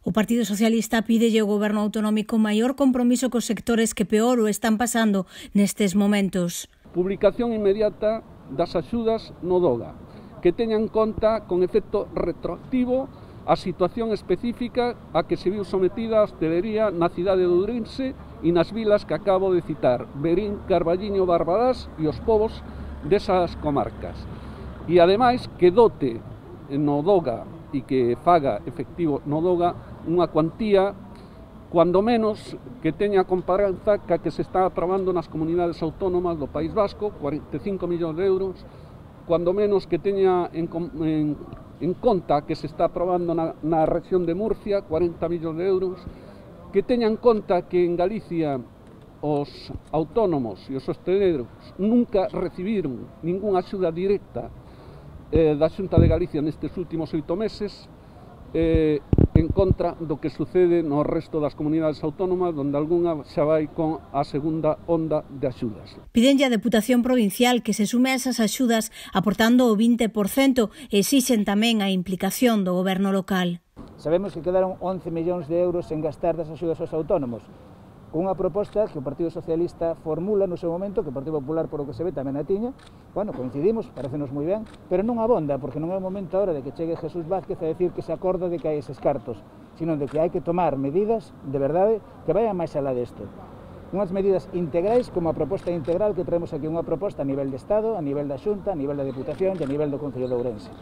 O Partido Socialista pídelle ao Goberno autonómico maior compromiso cos sectores que peor o están pasando nestes momentos. Publicación inmediata das axudas no DOGA, que teña en conta con efecto retroactivo a situación específica a que se viu sometida a hostelería na cidade de Ourense e nas vilas que acabo de citar, Verín, Carballiño, Barbadás e os povos desas comarcas. E ademais que dote no DOGA e que faga efectivo no DOGA unha cuantía cuando menos que teña comparanza ca que se está aprobando nas comunidades autónomas do País Vasco, 45 millóns de euros, cuando menos que teña en conta que se está aprobando na rexión de Murcia, 40 millóns de euros, que teña en conta que en Galicia os autónomos e os hosteleiros nunca recibiron ningunha axuda directa da Xunta de Galicia nestes últimos 8 meses, en contra do que sucede no resto das comunidades autónomas, onde algunha xa vai con a segunda onda de axudas. Pidenlle a Deputación Provincial que se sume a esas axudas aportando o 20% e exixen tamén a implicación do Goberno local. Sabemos que quedaron 11 millóns de euros en gastar das axudas aos autónomos, unha proposta que o Partido Socialista formula no seu momento, que o Partido Popular, por o que se ve, tamén a tiña. Bueno, coincidimos, parecenos moi ben, pero non abonda, porque non é o momento agora de que chegue Jesús Vázquez a decir que se acorda de que hai eses cartos, sino de que hai que tomar medidas, de verdade, que vayan máis alá desto. Unhas medidas integrais, como a proposta integral que traemos aquí, unha proposta a nivel de Estado, a nivel da Xunta, a nivel da Deputación e a nivel do Concello de Ourense.